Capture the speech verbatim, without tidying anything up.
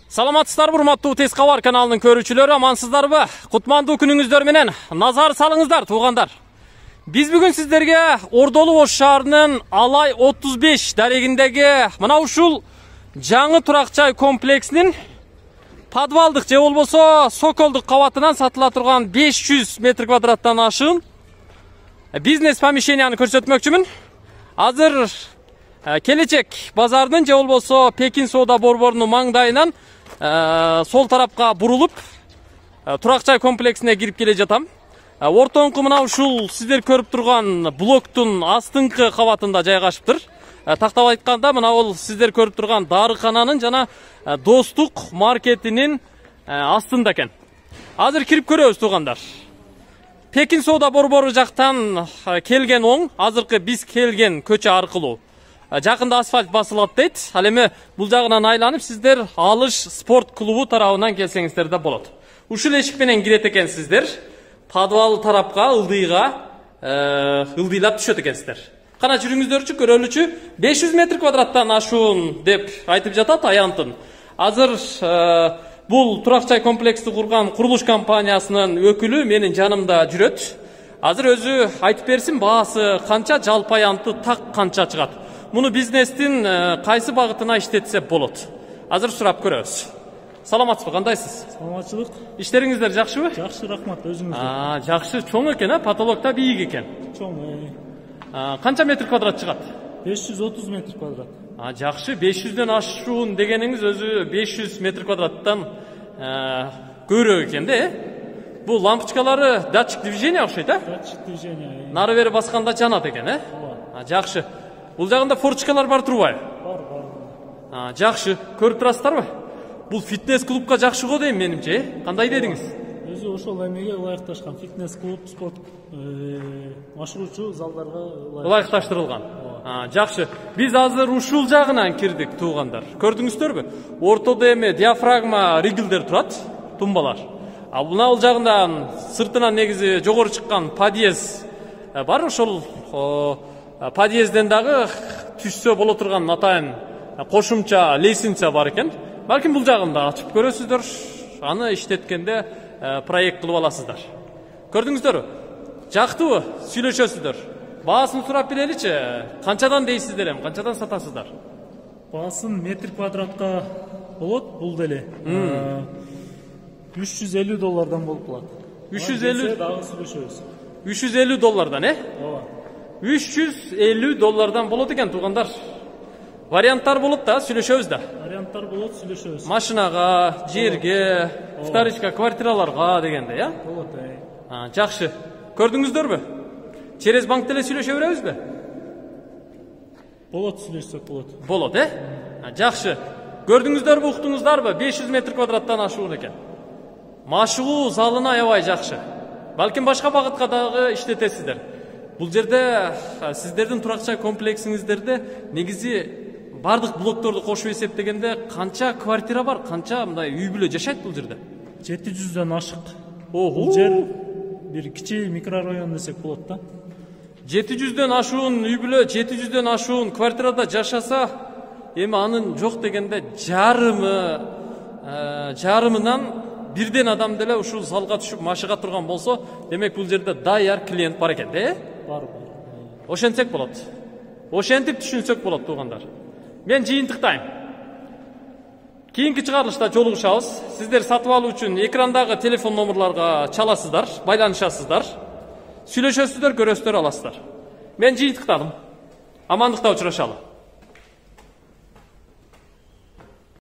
Саламатсыздарбы, урматтуу Тез кабар каналынын көрүүчүлөрү, амансыздарбы? Кутмандуу күнүңүздөр менен назар салыңыздар, туугандар. Биз бүгүн сиздерге Ордолу Ош шаарынын Алай отуз беш дарегиндеги мына ушул жаңы турак-жай комплексинин подвалдык же болбосо соколдук кабатынан сатыла турган беш жүз метр квадраттан ашык бизнес помещенияны көрсөтмөкчүмүн. Азыр келечек базарынын же болбосо Пекин соода борборунун маңдайынан сол тарапка бурулуп турак-жай комплексине кирип келе жатам. Ортоңку мына ушул сиздер көрүп турган блоктун астыңкы кабатында жайгашыптыр. Тактап айтканда мына бул сиздер көрүп турган дарыкананын жана Достук маркетинин астында экен. Азыр кирип көрөбүз, туугандар. Пекин соода борбору жактан келген оң, азыркы биз келген көчө аркылуу жакында асфальт басылат дейт. Ал эми бул жагынан айланып сиздер Алыш спорт клубу тарабынан келсеңиздер да болот. Ушул эшик менен кирет экенсиздер. Подвал тарапка ылдыйга ылдыйлап түшөт экенсиздер. Кана жүрүңүздөрчү, көрөлүчү беш жүз метр квадраттан ашуун деп айтып жатат аянтын. Азыр бул турак-жай комплексти курган курулуш компаниясынын өкүлү менин жанымда жүрөт. Азыр өзү айтып берсин, баасы канча, жалпы аянты так канча чыгат. Муну бизнестин кайсы багытына иштетсе болот. Азыр сурап көрөбүз. Саламатсызбы, кандайсыз? Саламатчылык. Иштериңиздер жакшыбы? Жакшы, рахмат, өзүңүз. А, жакшы, чоң экен, а? Потолок да бийик экен. Чоң. Канча метр квадрат чыгат? беш жүз отуз метр квадрат. А, жакшы, беш жүздөн ашуун дегениңиз өзү беш жүз метр квадраттан көбүрөөк экен да, э? Бул лампочкалары датчик движения окшойт, а? Датчик движения. Нары бери басканда жанат экен, э? Ооба. Жакшы. Бул жагында форчкалар бар турбайбы? Бар, бар. А, жакшы. Көрүп турасыздарбы? Бул фитнес клубка жакшы го дейм менимче, э? Кандай дедиңиз? Өзү ошол эмеге ылайыкташкан фитнес клуб, спорт машыгуучу залдарга ылайыкташтырылган. А, жакшы. Биз азыр ушул жагынан кирдик, туугандар. Көрдүңүздөрбү? Ортодо эми диафрагма ригелдер турат, тумбалар. А мына бул жагында сыртынан негизи жогору чыккан подъезд бар. Ошол подъезден дагы түшсө боло турган атайын кошумча лестница бар экен. Балким бул жагында ачып көрөсүздөр, аны иштеткенде проект кылып аласыздар. Көрдүңүздөрбү? Жактыбы? Сүйлөшөсүздөр. Баасын сурап береличи. Канчадан дейсиздер эми? Канчадан сатасыздар? Баасын метр квадратка болот, бул деле. үч жүз элүү доллардан болуп калат. үч жүз элүү дагы сүйлөшөбүз. үч жүз элүү доллардан, э? Ооба. үч жүз элүү доллардан болот экен, туугандар. Варианттар болот да, сүйлөшөбүз да. Варианттар болот, сүйлөшөбүз. Машинага, жерге, вторичка квартираларга дегенде, я? Болот, э. А, жакшы. Көрдүңүздөрбү? Через банк деле сүйлөшө беребизби? Болот, сүйлөшсөк болот. Болот, э? Жакшы. Көрдүңүздөрбү, уктуңуздарбы? беш жүз метр квадраттан ашуун экен. Машыгуу залына аябай жакшы. Балким башка багытка дагы иштетесиздер. Бул жерде сиздердин турак-жай комплексиңиздерде негизи бардык блокторду кошуп эсептегенде канча квартира бар, канча мындай үй бүлө жашайт бул жерде? жети жүздөн ашык. Ого. Бул жер бир кичи микрорайон десек болот да. жети жүздөн ашуун үй бүлө, жети жүздөн ашуун квартирада жашаса, эми анын жок дегенде жарымы, жарымынан бирден адам деле ушул залга түшүп машыга турган болсо, демек бул жерде даяр клиент бар экен, э? Бар, бар. Ошентсек болот. Ошентип түшүнсөк болот, туугандар. Мен жыйынтыктайм. Кийинки чыгарылышта жолугушабыз. Сиздер сатып алуу үчүн экрандагы телефон номерларга чаласыздар, байланышасыздар. Сүйлөшөсүздөр, көрөсүздөр, аласыздар. Мен жыйынтыктадым. Амандыкта учурашалы.